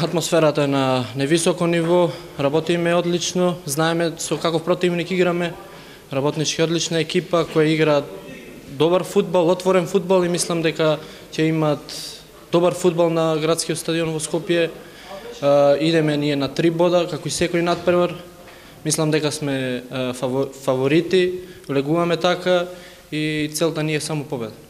атмосферата е на невисоко ниво, работиме одлично, знаеме со каков противник играме, работнички одлична екипа која игра добар фудбал, отворен фудбал и мислам дека ќе имат добар фудбал на градскиот стадион во Скопје. Идеме ние на 3 бода, како и секој надпревар. Мислам дека сме фаворити, влегуваме така и целта ни е само победа.